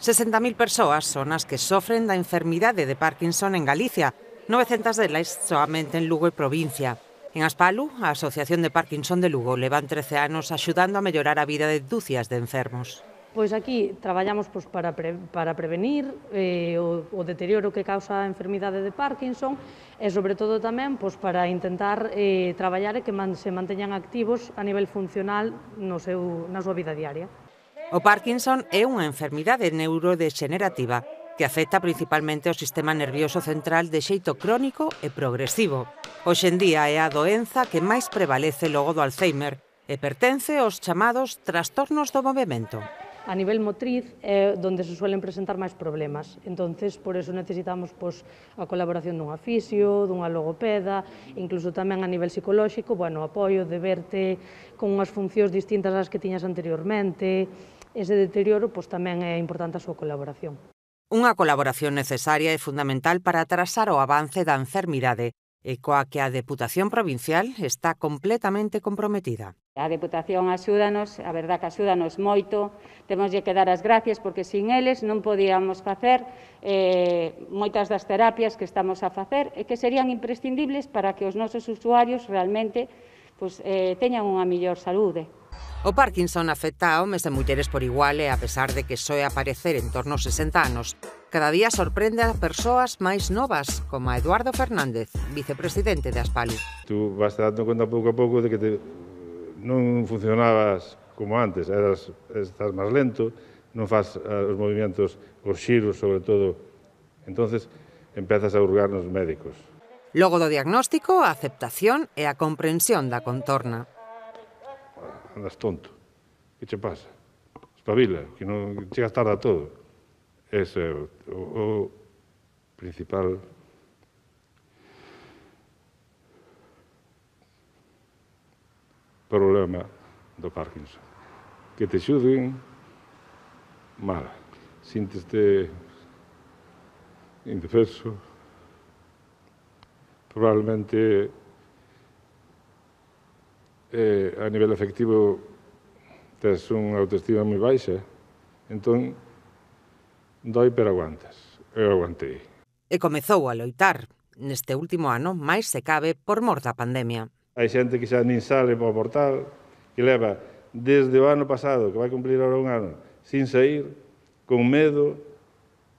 60.000 persoas son as que sofren da enfermidade de Parkinson en Galicia, 900 delas soamente en Lugo e provincia. En Aspalu, a Asociación de Parkinson de Lugo levan 13 anos axudando a mellorar a vida de dúcias de enfermos. Pois aquí traballamos para prevenir o deterioro que causa a enfermidade de Parkinson e, sobre todo, tamén para intentar traballar e que se manteñan activos a nivel funcional na súa vida diaria. O Parkinson é unha enfermidade neurodexenerativa que afecta principalmente ao sistema nervioso central de xeito crónico e progresivo. Hoxe en día é a doenza que máis prevalece logo do Alzheimer e pertence aos chamados trastornos do movemento. A nivel motriz é onde se suelen presentar máis problemas. Entonces, por eso necesitamos a colaboración dunha fisio, dunha logopeda, incluso tamén a nivel psicolóxico, apoio de verte con unhas funcións distintas ás que tiñas anteriormente. Ese deterioro tamén é importante a súa colaboración. Unha colaboración necesaria e fundamental para atrasar o avance da enfermidade e coa que a Deputación Provincial está completamente comprometida. A Deputación axúdanos, a verdad que axúdanos moito, temoslle que dar as gracias porque sin eles non podíamos facer moitas das terapias que estamos a facer e que serían imprescindibles para que os nosos usuarios realmente teñan unha mellor saúde. O Parkinson afecta a homes e mulleres por igual e, a pesar de que soe aparecer en torno aos 60 anos, cada día sorprende a persoas máis novas, como a Eduardo Fernández, vicepresidente de Aspalu. Tú vas dando conta pouco a pouco de que non funcionabas como antes, estás máis lento, non faz os movimentos, os xiros, sobre todo. Entonces, empezas a hurgar nos médicos. Logo do diagnóstico, a aceptación e a comprensión da contorna. Andas tonto. Que che pasa? Espabila, que non chegas tarde a todo. Ese é o principal problema do Parkinson. Que te xuden mal. Sínteste indefenso. Probablemente a nivel afectivo tes unha autoestima moi baixa, entón doi pero aguantas. Eu aguantei. E comezou a loitar, neste último ano, máis se cabe por mor da pandemia. Hai xente que xa nin sale para o portal, que leva desde o ano pasado, que vai cumplir ahora un ano, sin sair, con medo.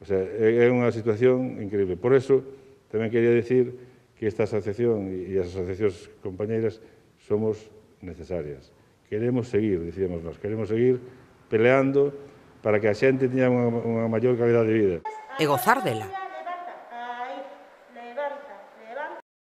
O sea, é unha situación increíble. Por eso, tamén quería dicir que esta asociación e as asociacións compañeiras somos necesarias. Queremos seguir, dicíamos nós, queremos seguir peleando para que a xente teña unha maior calidad de vida. E gozar dela.